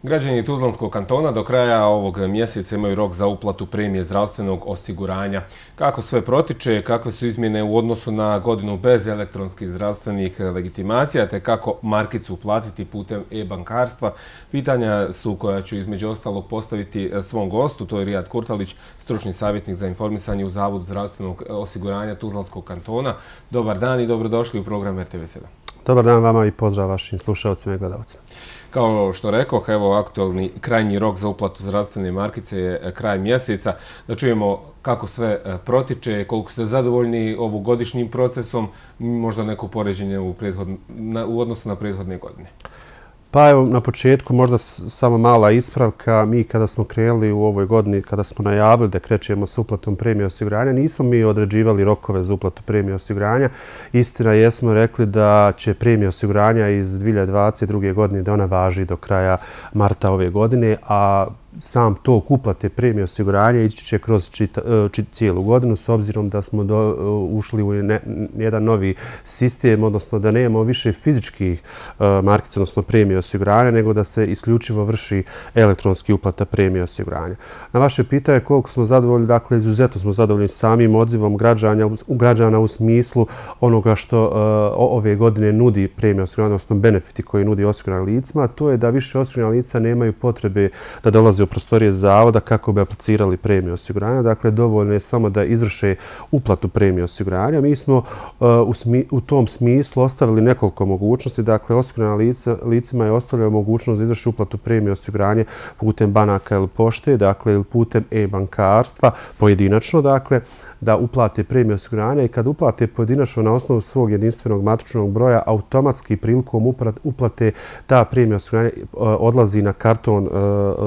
Građani Tuzlanskog kantona do kraja ovog mjeseca imaju rok za uplatu premije zdravstvenog osiguranja. Kako sve protiče, kakve su izmjene u odnosu na godinu bez elektronskih zdravstvenih legitimacija, te kako markicu uplatiti putem e-bankarstva, pitanja su koja ću između ostalog postaviti svom gostu, to je Rijad Kurtalić, stručni savjetnik za informisanje u Zavodu zdravstvenog osiguranja Tuzlanskog kantona. Dobar dan i dobrodošli u program RTV7. Dobar dan vama i pozdrav vašim slušalcima i gledalcima. Kao što rekoh, evo aktualni krajnji rok za uplatu zdravstvene markice je kraj mjeseca. Da čujemo kako sve protiče, koliko ste zadovoljni ovogodišnjim procesom, možda neko poređenje u odnosu na prethodne godine. Pa evo, na početku možda samo mala ispravka. Mi kada smo krenuli u ovoj godini, kada smo najavili da krećemo s uplatom premije osiguranja, nismo mi određivali rokove za uplatu premije osiguranja. Istina, jesmo rekli da će premija osiguranja iz 2022. godine da ona važi do kraja marta ove godine, a sam tok uplate premije osiguranja ići će kroz cijelu godinu s obzirom da smo ušli u jedan novi sistem, odnosno da nemamo više fizičkih markica, odnosno premije osiguranja, nego da se isključivo vrši elektronski uplata premije osiguranja. Na vaše pitanje koliko smo zadovoljni, dakle izuzetno smo zadovoljni samim odzivom građana u smislu onoga što ove godine nudi premija osiguranja, odnosno benefiti koji nudi osiguranim licima, a to je da više osigurana lica nemaju potrebe da dolaze u prostorije zavoda kako bi aplicirali premiju osiguranja. Dakle, dovoljno je samo da izvrše uplatu premije osiguranja. Mi smo u tom smislu ostavili nekoliko mogućnosti. Dakle, osigurana licima je ostavljena mogućnost da izvrši uplatu premije osiguranja putem banaka ili pošte, dakle, ili putem e-bankarstva, pojedinačno, dakle, da uplate premije osiguranja i kad uplate pojedinačno na osnovu svog jedinstvenog matičnog broja, automatski prilikom uplate ta premija osiguranja odlazi na karton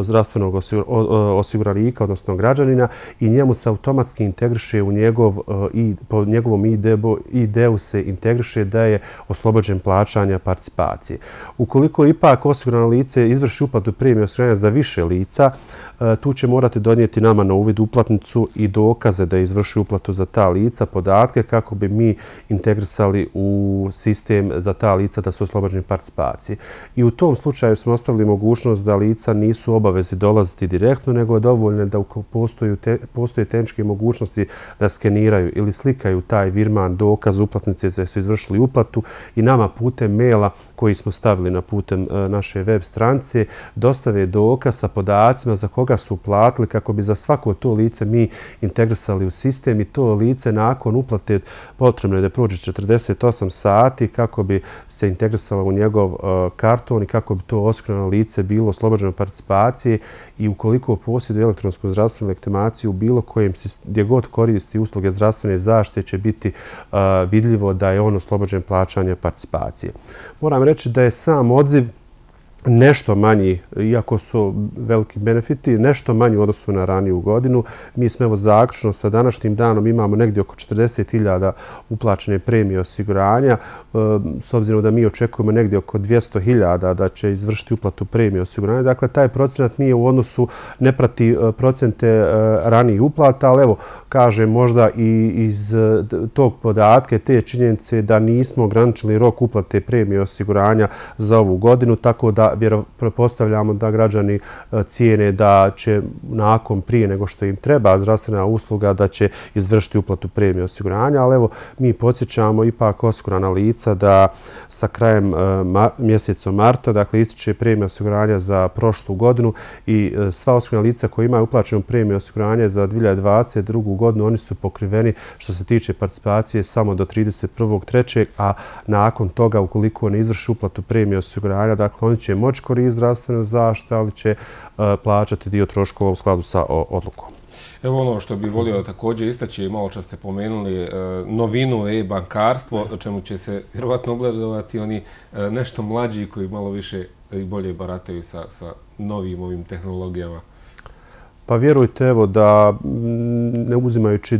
zdravstvenog osiguranika, odnosno građanina, i njemu se automatski integriše po njegovom ID-u se integriše da je oslobođen plaćanja participacije. Ukoliko ipak osigurano lice izvrši uplatu premije osiguranja za više lica, tu će morati donijeti nama na uvid uplatnicu i dokaze da izvrši uplatu za ta lica, podatke kako bi mi integrisali u sistem za ta lica da su oslobođeni participacije. I u tom slučaju smo ostavili mogućnost da lica nisu obavezi dolaziti direktno, nego je dovoljno da postoje tehničke mogućnosti da skeniraju ili slikaju taj virman dokaz uplatnice da su izvršili uplatu i nama putem maila koji smo stavili na putem naše web stranice dostave dokaz sa podacima za koga su uplatili kako bi za svako to lice mi integrisali u sistem i to lice nakon uplate potrebno je da prođe 48 sati kako bi se integrisalo u njegov karton i kako bi to osigurano lice bilo oslobođeno participacije i ukoliko posjeduje elektronsku zdravstvenu legitimaciju u bilo kojem gdje god koristi usluge zdravstvene zaštite će biti vidljivo da je on oslobođen plaćanja participacije. Moram reći da je sam odziv nešto manji, iako su veliki benefiti, nešto manji u odnosu na raniju godinu. Mi smo evo zaključno sa današnjim danom imamo negdje oko 40.000 uplaćene premije osiguranja. S obzirom da mi očekujemo negdje oko 200.000 da će izvršiti uplatu premije osiguranja. Dakle, taj procenat nije u odnosu, ne prati procente ranijih uplata, ali evo, kažem možda i iz tog podatka, te činjenice da nismo ograničili rok uplate premije osiguranja za ovu godinu, tako da pretpostavljamo da građani cijene da će nakon prije nego što im treba zdravstvena usluga da će izvršiti uplatu premije osiguranja, ali evo mi podsjećamo ipak osigurana lica da sa krajem mjeseca marta, dakle ističe premija osiguranja za prošlu godinu i sva osigurana lica koja imaju uplaćenu premiju osiguranja za 2022. godinu, oni su pokriveni što se tiče participacije samo do 31.3. a nakon toga ukoliko ne izvrši uplatu premije osiguranja, dakle oni će moći koristiti zdravstvenu zaštitu, ali će plaćati dio troškova u skladu sa odlukom. Evo ono što bih volio također istaći, malo čas ste pomenuli novinu e-bankarstvo, o čemu će se vjerovatno obradovati oni nešto mlađi koji malo više i bolje barataju sa novim ovim tehnologijama. Pa vjerujte evo da ne uzimajući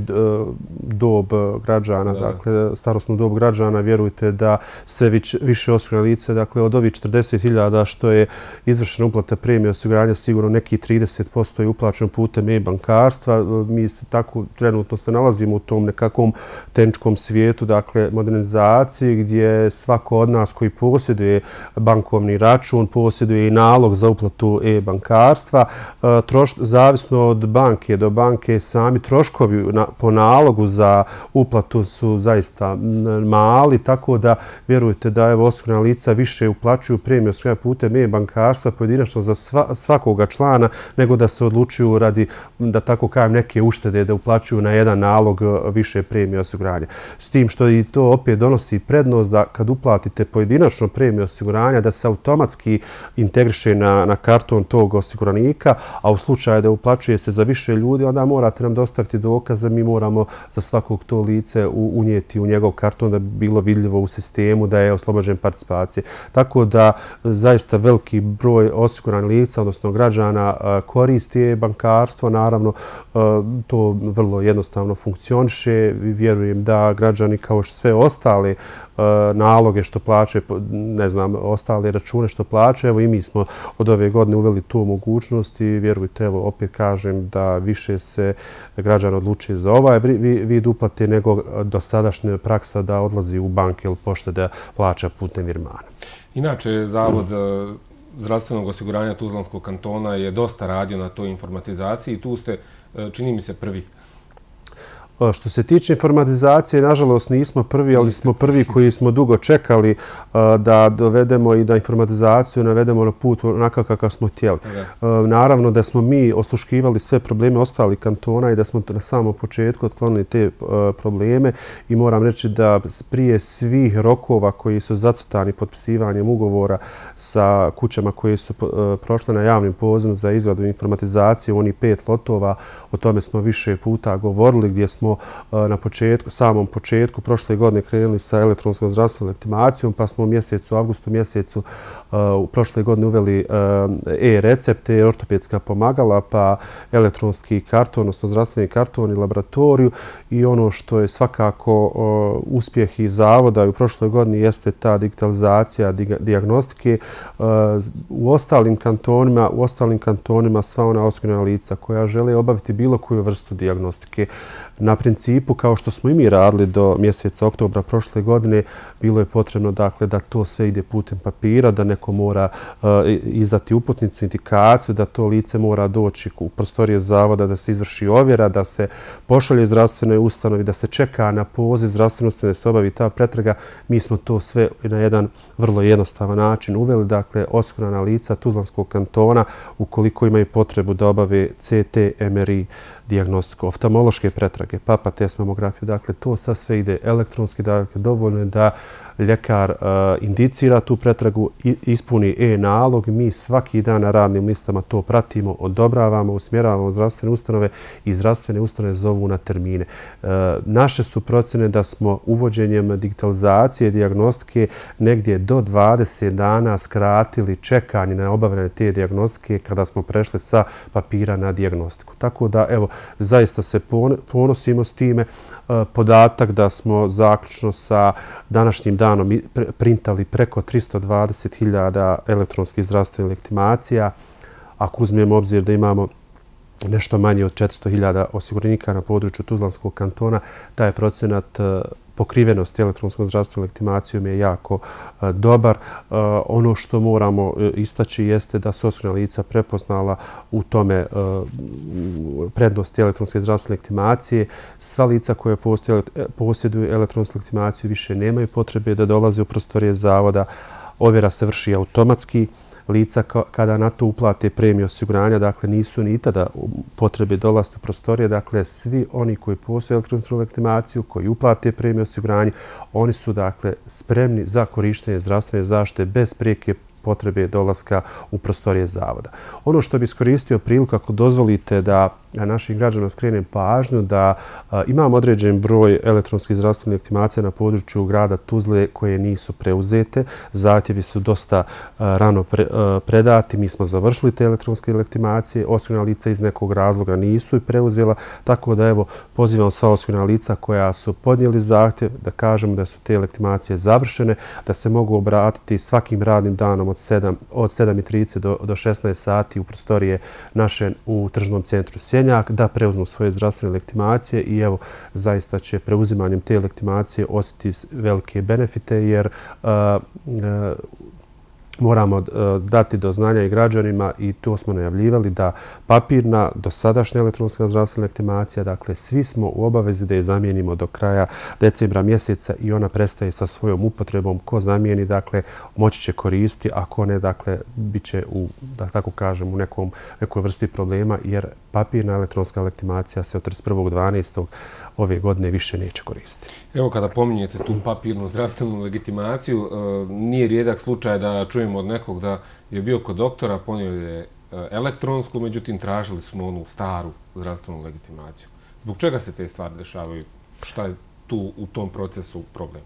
dob građana, dakle starosnu dob građana, vjerujte da sve više osigurana lice, dakle od ovih 40.000 što je izvršena uplata premije osiguranja, sigurno nekih 30% je uplaćeno putem e-bankarstva. Mi se tako trenutno se nalazimo u tom nekakvom tehničkom svijetu, dakle modernizaciji gdje svako od nas koji posjeduje bankovni račun, posjeduje i nalog za uplatu e-bankarstva. Zavisno od banke do banke sami troškovi po nalogu za uplatu su zaista mali, tako da vjerujte da osigurana lica više uplaćuju premiju osiguranja putem e-bankarstva pojedinačno za svakoga člana nego da se odlučuju radi, da tako kažem, neke uštede da uplaćuju na jedan nalog više premije osiguranja. S tim što i to opet donosi prednost da kad uplatite pojedinačno premiju osiguranja da se automatski integriše na karton tog osiguranika, a u slučaju da uplaćuje se za više ljudi, onda morate nam dostaviti dokaz da mi moramo za svakog to lice unijeti u njegov karton da bi bilo vidljivo u sistemu da je oslobođen participacije. Tako da zaista veliki broj osiguranih lica, odnosno građana, koristi e-bankarstvo. Naravno, to vrlo jednostavno funkcioniše. Vjerujem da građani kao sve ostale naloge što plaćaju, ne znam, ostale račune što plaćaju, evo i mi smo od ove godine uveli tu mogućnost i vjerujte, evo opet kažem da više se građana odlučuje za ovaj vid uplate nego dosadašnja praksa da odlazi u banke ili pošte da plaća putem virmana. Inače, Zavod zdravstvenog osiguranja Tuzlanskog kantona je dosta radio na toj informatizaciji i tu ste, čini mi se, prvi. Što se tiče informatizacije, nažalost nismo prvi, ali smo prvi koji smo dugo čekali da dovedemo i da informatizaciju navedemo na put onako kakav smo htjeli. Naravno da smo mi osluškivali sve probleme ostalih kantona i da smo na samom početku otklonili te probleme i moram reći da prije svih rokova koji su zacrtani potpisivanjem ugovora sa kućama koje su prošle na javnim pozivom za izradu informatizacije, oni 5 lotova, o tome smo više puta govorili gdje smo na samom početku prošle godine krenuli sa elektronskom zdravstvenom legitimacijom, pa smo u avgustu mjesecu prošle godine uveli e-recepte, ortopedska pomagala, pa elektronski karton, odnosno zdravstveni karton i laboratoriju. I ono što je svakako uspjeh i zavoda u prošloj godini jeste ta digitalizacija dijagnostike. U ostalim kantonima sva ona osigurana lica koja žele obaviti bilo koju vrstu dijagnostike na principu kao što smo i mi radili do mjeseca oktobra prošle godine, bilo je potrebno dakle da to sve ide putem papira, da neko mora izdati uputnicu, indikaciju, da to lice mora doći u prostorije zavoda, da se izvrši ovjera, da se pošalje zdravstvenoj ustanovi, da se čeka na poziv zdravstvene ustanove da se obavi ta pretraga. Mi smo to sve na jedan vrlo jednostavan način uveli, dakle osigurana lica Tuzlanskog kantona ukoliko imaju potrebu da obave CT, MRI, dijagnostiku, oftalmološke pretrage, papa test, mamografiju, dakle to sad sve ide elektronski, dakle dovoljno je da ljekar indicira tu pretragu, ispuni e-nalog, mi svaki dan na radnim listama to pratimo, odobravamo, usmjeravamo zdravstvene ustanove i zdravstvene ustanove zovu na termine. Naše su procjene da smo uvođenjem digitalizacije dijagnostike negdje do 20 dana skratili čekanje na obavljanje te dijagnostike kada smo prešli sa papira na dijagnostiku. Tako da, evo, zaista se ponosimo s time. Podatak da smo zaključno sa današnjim danom printali preko 320.000 elektronskih zdravstvenih legitimacija. Ako uzmemo obzir da imamo nešto manje od 400.000 osiguranika na području Tuzlanskog kantona, taj procenat pokrivenosti elektronskom zdravstvenom legitimacijom je jako dobar. Ono što moramo istaći jeste da su osigurana lica prepoznala u tome prednosti elektronske zdravstvene legitimacije. Sva lica koja posjeduju elektronsku legitimaciju više nemaju potrebe da dolaze u prostorije zavoda. Ovjera se vrši automatski. Lica kada na to uplate premiju osiguranja, dakle nisu ni tada potrebe dolaziti u prostorije, dakle svi oni koji posjeduju elektronsku legitimaciju, koji uplate premiju osiguranja, oni su dakle spremni za korištenje zdravstvene zaštite bez prijeke potrebe dolaska u prostorije zavoda. Ono što bi iskoristio priliku, ako dozvolite da našim građanima skrenem pažnju, da imamo određen broj elektronskih zdravstvenih legitimacija na području grada Tuzle koje nisu preuzete. Zahtjevi su dosta rano predati. Mi smo završili te elektronske legitimacije. Osigurana lica iz nekog razloga nisu i preuzela. Tako da evo pozivam sva osigurana lica koja su podnijeli zahtjev da kažemo da su te legitimacije završene, da se mogu obratiti svakim radnim danom od 7:30 do 16 sati u prostorije naše u tržnom centru Sjenjak, da preuzmu svoje zdravstvene legitimacije i evo zaista će preuzimanjem te legitimacije osjetiti velike benefite jer moramo dati do znanja i građanima i to smo najavljivali da papirna dosadašnja elektronska zdravstvena legitimacija, dakle svi smo u obavezi da je zamijenimo do kraja decembra mjeseca i ona prestaje sa svojom upotrebom. Ko zamijeni, dakle, moći će koristiti, a ko ne, dakle, bit će u, da tako kažem, u nekoj vrsti problema jer papirna elektronska legitimacija se od 31.12. ove godine više neće koristiti. Evo kada pominjete tu papirnu zdravstvenu legitimaciju, nije rijedak slučaj da čujemo od nekog da je bio kod doktora, ponio je elektronsku, međutim tražili smo onu staru zdravstvenu legitimaciju. Zbog čega se te stvari dešavaju? Šta je tu u tom procesu problem?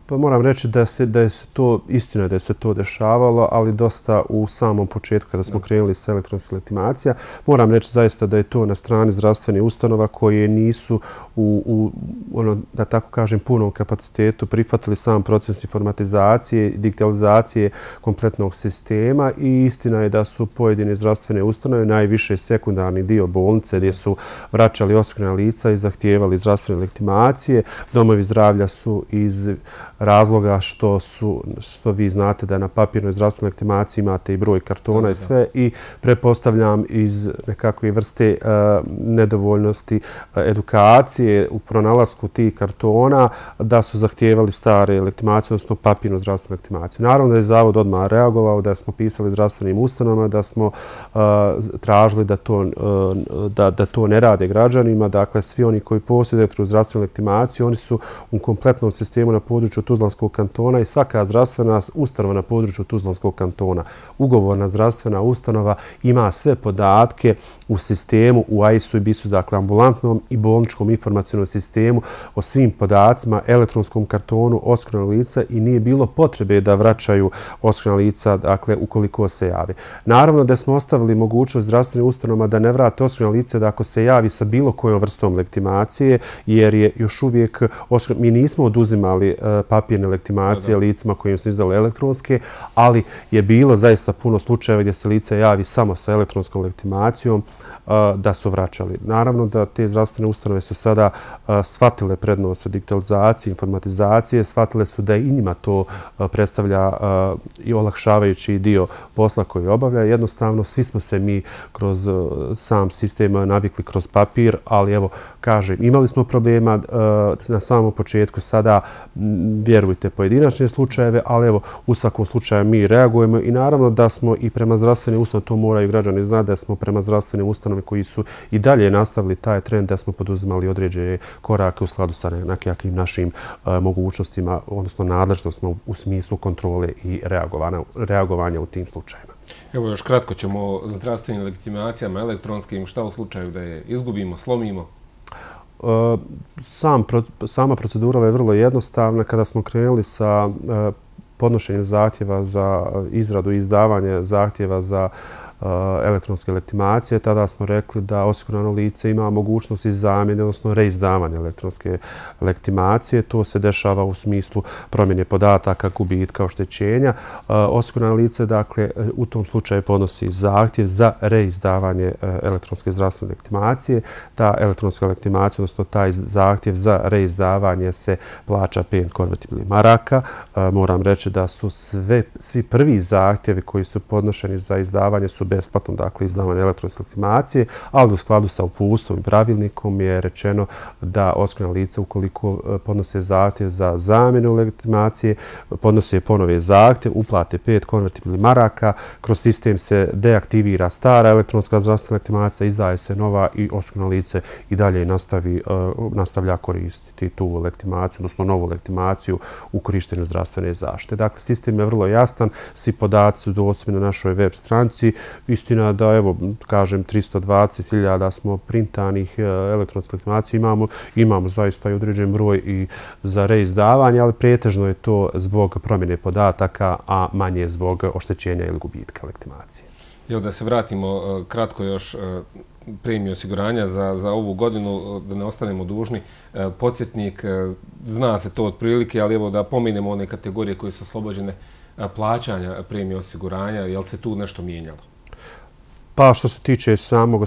Pa moram reći da je se to, istina da je se to dešavalo, ali dosta u samom početku kada smo krenuli sa elektronskom legitimacija. Moram reći zaista da je to na strani zdravstvenih ustanova koje nisu u da tako kažem, punom kapacitetu prihvatili sam proces informatizacije i digitalizacije kompletnog sistema i istina je da su pojedine zdravstvene ustanove, najviše sekundarni dio bolnice gdje su vraćali osigurana lica i zahtijevali zdravstvene legitimacije. Domovi zdravlja su iz razloga što vi znate da na papirnoj zdravstvenoj legitimaciji imate i broj kartona i sve i pretpostavljam iz nekakve vrste nedovoljnosti edukacije u pronalasku tih kartona da su zahtijevali stare legitimacije, odnosno papirnu zdravstvenu legitimaciju. Naravno da je Zavod odmah reagovao, da smo pisali zdravstvenim ustanovama, da smo tražili da to ne rade građanima. Dakle, svi oni koji posjeduju zdravstvenu legitimaciju, oni su u kompletnom sistemu na području Tuzlanskog kantona i svaka zdravstvena ustanova na području Tuzlanskog kantona, ugovorna zdravstvena ustanova, ima sve podatke u sistemu, u AIS-u i BIS-u, dakle ambulantnom i bolničkom informacionom sistemu o svim podacima, elektronskom kartonu osiguranog lica i nije bilo potrebe da vraćaju osigurana lica, dakle, ukoliko se javi. Naravno da smo ostavili mogućnost zdravstvenim ustanovama da ne vrate osigurana lice da ako se javi sa bilo kojom vrstom legitimacije, jer je još uvijek, mi nismo oduzimali papirne legitimacije licima kojim su izdali elektronske, ali je bilo zaista puno slučajeva gdje se lice javi samo sa elektronskom legitimacijom da su vraćali. Naravno da te zdravstvene ustanove su sada shvatile prednost digitalizacije, informatizacije, shvatile su da i njima to predstavlja i olakšavajući dio posla koji obavlja. Jednostavno, svi smo se mi kroz sam sistem navikli kroz papir, ali evo, kažem, imali smo problema na samom početku, sada vjerujte pojedinačne slučajeve, ali evo, u svakom slučaju mi reagujemo i naravno da smo i prema zdravstvenim ustanovama, to moraju građani znati, da smo prema zdravstvenim ustanovama koji su i dalje nastavili taj trend, da smo poduzimali određene korake u skladu sa nekakvim našim mogućnostima, odnosno nadležnostima u smislu kontrole i reagovanja u tim slučajima. Evo još kratko ćemo o zdravstvenim legitimacijama elektronskim. Šta u slučaju da je izgubimo, slomimo? Sama procedura je vrlo jednostavna. Kada smo krenuli sa podnošenjem zahtjeva za izradu i izdavanje zahtjeva za elektronske legitimacije, tada smo rekli da osigurano lice ima mogućnost i zamjene, odnosno reizdavanja elektronske legitimacije. To se dešava u smislu promjene podataka, gubitka, oštećenja. Osigurano lice, dakle, u tom slučaju podnosi zahtjev za reizdavanje elektronske zdravstvene legitimacije. Ta elektronska legitimacija, odnosno taj zahtjev za reizdavanje se plaća 5 konvertibilnih maraka. Moram reći da su svi prvi zahtjevi koji su podnošeni za izdavanje su besplatno, dakle, izdavane elektronske legitimacije, ali u skladu sa uputstvom i pravilnikom je rečeno da osigurana lica ukoliko podnose zahtjev za zamjenu legitimacije, podnose ponovo zahtjev, uplate 5 konvertibilnih maraka, kroz sistem se deaktivira stara elektronska zdravstvena legitimacija, izdaje se nova i osigurano lice i dalje nastavlja koristiti tu legitimaciju, odnosno novu legitimaciju u korištenju zdravstvene zaštite. Dakle, sistem je vrlo jasan, svi podaci su dostupni na našoj web stranici. Istina da, evo, kažem, 320.000 smo printanih elektronskih legitimacija imamo zaista i određen broj i za reizdavanje, ali pretežno je to zbog promjene podataka, a manje zbog oštećenja ili gubitka legitimacije. Evo da se vratimo kratko još premiju osiguranja za ovu godinu, da ne ostanemo dužni. Podsjetnik, zna se to otprilike, ali evo da pomenemo one kategorije koje su oslobođene plaćanja premije osiguranja, je li se tu nešto mijenjalo? Pa što se tiče samog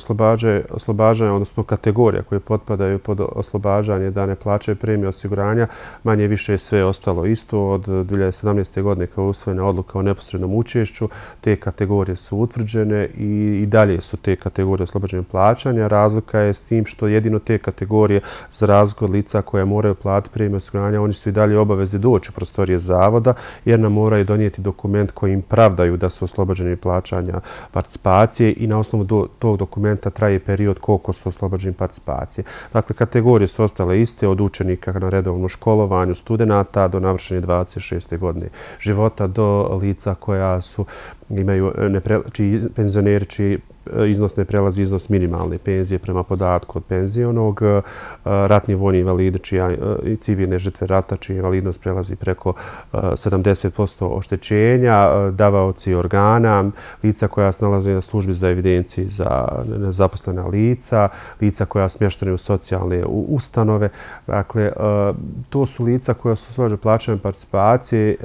oslobađanja, odnosno kategorija koje potpadaju pod oslobađanje da ne plaćaju premiju osiguranja, manje više sve ostalo isto. Od 2017. godine kao je usvojena odluka o neposrednom učešću, te kategorije su utvrđene i dalje su te kategorije oslobađanja plaćanja. Razlika je s tim što jedino te kategorije, za razliku od lica koja moraju platiti premiju osiguranja, oni su i dalje obavezni doći u prostorije zavoda jer nam moraju donijeti dokument kojim pravdaju da su oslobođeni plaćanja participacije i na osnovu tog dokumenta traje period koliko su oslobođeni participacije. Dakle, kategorije su ostale iste od učenika na redovnom školovanju, studenata do navršene 26. godine života, do lica koja imaju penzioneri čiji iznos ne prelazi iznos minimalne penzije prema podatku od penzionog, ratni vojni invalidi i civilne žrtve rata čija invalidnost prelazi preko 70% oštećenja, davaoci organa, lica koja se nalaze na službi za evidenciji za nezaposlena lica, lica koja smještene u socijalne ustanove. Dakle, to su lica koja su oslobođena plaćanja participacije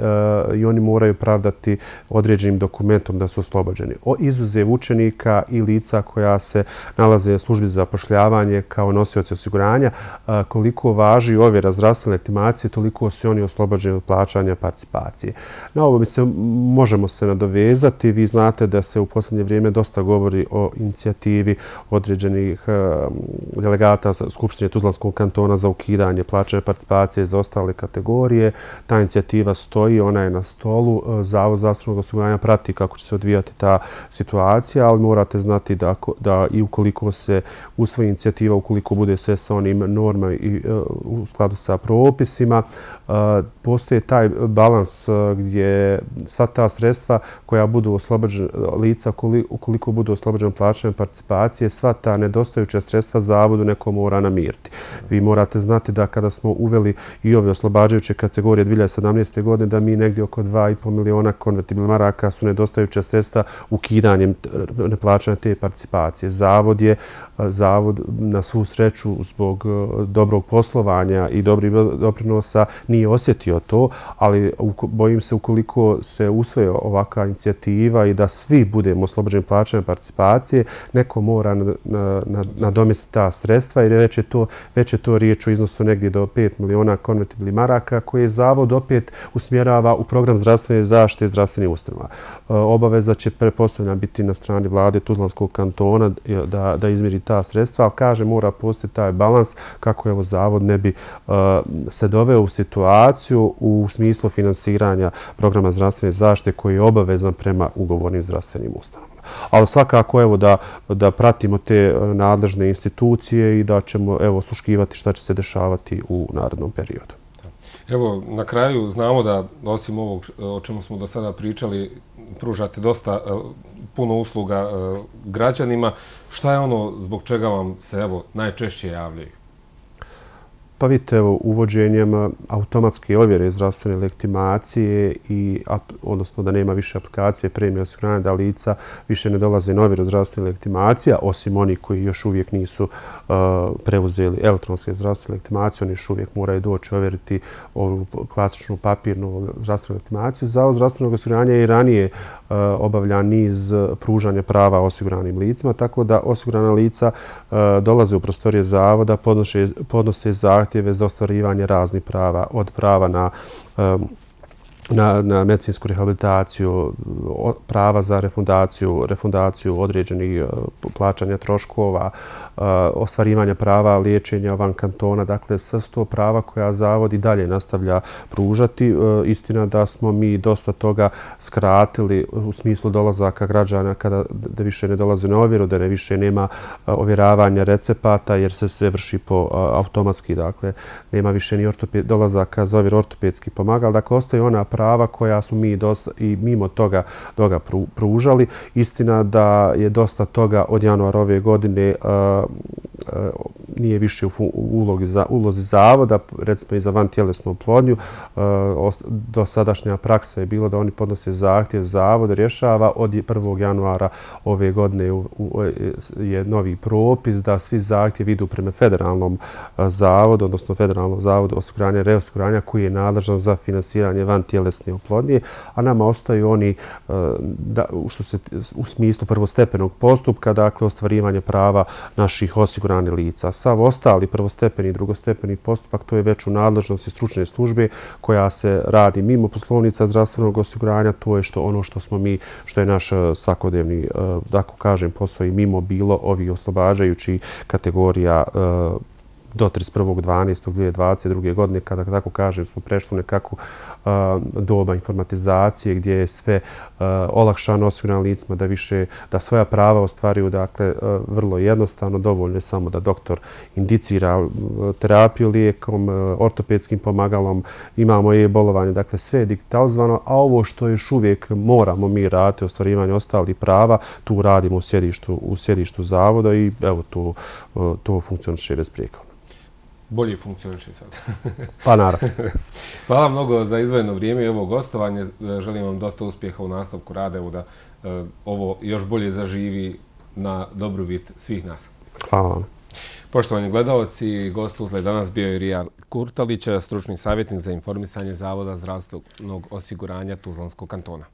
i oni moraju pravdati određenim dokumentom da su oslobođeni. Izuzev učenika i lica koja se nalaze u službi za zapošljavanje kao nosioci osiguranja, koliko važi ovjera zdravstvene legitimacije, toliko su oni oslobođeni od plaćanja participacije. Na ovo možemo se nadovezati. Vi znate da se u posljednje vrijeme dosta govori o inicijativi određenih delegata Skupštine Tuzlanskog kantona za ukidanje plaćanja participacije za ostale kategorije. Ta inicijativa stoji, ona je na stolu. Zavod zdravstvenog osiguranja prati kako će se odvijati ta situacija, ali morate znati da i ukoliko se usvoji inicijativa, ukoliko bude sve sa onim normama i u skladu sa propisima, postoje taj balans gdje sva ta sredstva koja budu oslobođena lica, ukoliko budu oslobođena plaćanja participacije, sva ta nedostajuća sredstva zavodu neko mora namiriti. Vi morate znati da kada smo uveli i ove oslobađajuće kategorije 2017. godine, da mi negdje oko 2,5 miliona konvertibilnih maraka su nedostajuća sredstva ukidanjem neplaćanja te participacije. Zavod na svu sreću zbog dobrog poslovanja i dobrih doprinosa nije osjetio to, ali bojim se ukoliko se usvoji ovakva inicijativa i da svi budemo oslobođeni plaćanja participacije, neko mora nadomjestiti ta sredstva jer već je to riječ o iznosu negdje do 5 miliona konvertibilnih maraka koje zavod opet usmjerava u program zdravstvene zaštite i zdravstvenih ustanova. Obaveza će pretpostavljena biti na strani vlade Tuzlanskog kantona da izmjeri ta sredstva, ali kaže mora postojati taj balans kako evo zavod ne bi se doveo u situaciju u smislu finansiranja programa zdravstvene zaštite koji je obavezan prema ugovornim zdravstvenim ustanovama. Ali svakako evo da pratimo te nadležne institucije i da ćemo evo osluškivati šta će se dešavati u narednom periodu. Evo, na kraju znamo da osim ovog o čemu smo do sada pričali, pružate dosta puno usluga građanima. Šta je ono zbog čega vam se evo najčešće javljaju? Pa vidite, evo, uvođenjem automatske ovjere zdravstvene legitimacije odnosno da nema više aplikacije premije osiguranja, da lica više ne dolaze na ovjeru zdravstvene legitimacija, osim oni koji još uvijek nisu preuzeli elektronske zdravstvene legitimacije, oni još uvijek moraju doći ovjeriti ovu klasičnu papirnu zdravstvenu legitimaciju. Zavod zdravstvenog osiguranja je i ranije obavlja niz pružanja prava osiguranim licima, tako da osigurana lica dolaze u prostorije zavoda, podnose zahtjeve za ostvarivanje raznih prava, od prava na na medicinsku rehabilitaciju, prava za refundaciju određenih plaćanja troškova, ostvarivanja prava liječenja van kantona. Dakle, sve su to prava koja Zavod i dalje nastavlja pružati. Istina da smo mi dosta toga skratili u smislu dolazaka građana da više ne dolaze na ovjeru, da više nema ovjeravanja recepata jer se sve vrši po automatski. Dakle, nema više ni dolazaka za ovjeru ortopedski pomagal. Dakle, ostaju ona prava koja smo mi i mimo toga pružali. Istina da je dosta toga od januara ove godine nije više u ulozi Zavoda, recimo i za vantjelesnu oplodnju. Dosadašnja praksa je bilo da oni podnose zahtjev, Zavod rješava. Od 1. januara ove godine je novi propis da svi zahtjevi idu prema federalnom zavodu, odnosno federalnom zavodu osiguranja i reosiguranja koji je nadležan za finansiranje vantjelesne oplodnje, a nama ostaju oni u smislu prvostepenog postupka, dakle ostvarivanje prava naših osiguranih lica. Sav ostali prvostepeni i drugostepeni postupak, to je već u nadležnosti stručne službe koja se radi mimo poslovnica zdravstvenog osiguranja. To je ono što je naš svakodnevni, da kažem, posao i mimo bilo ovih oslobađajućih kategorija do 31.12.2022. godine, kada, tako kažem, smo prešli u nekakvu doba informatizacije gdje je sve olakšano osiguranim licima da svoja prava ostvaruju. Dakle, vrlo jednostavno, dovoljno je samo da doktor indicira terapiju lijekom, ortopedskim pomagalom, imamo i bolovanje, dakle sve je digitalizovano, a ovo što još uvijek moramo mi raditi, ostvarivanje ostalih prava, tu radimo u sjedištu Zavoda i evo to funkcioniše besprijekorno. Bolje funkcioniše sad. Pa naravno. Hvala mnogo za izdvojeno vrijeme i ovo gostovanje. Želim vam dosta uspjeha u nastavku rada, da ovo još bolje zaživi na dobrobit svih nas. Hvala vam. Poštovani gledalci, gost Tuzle danas bio je Rijal Kurtalić, stručni savjetnik za informisanje Zavoda zdravstvenog osiguranja Tuzlanskog kantona.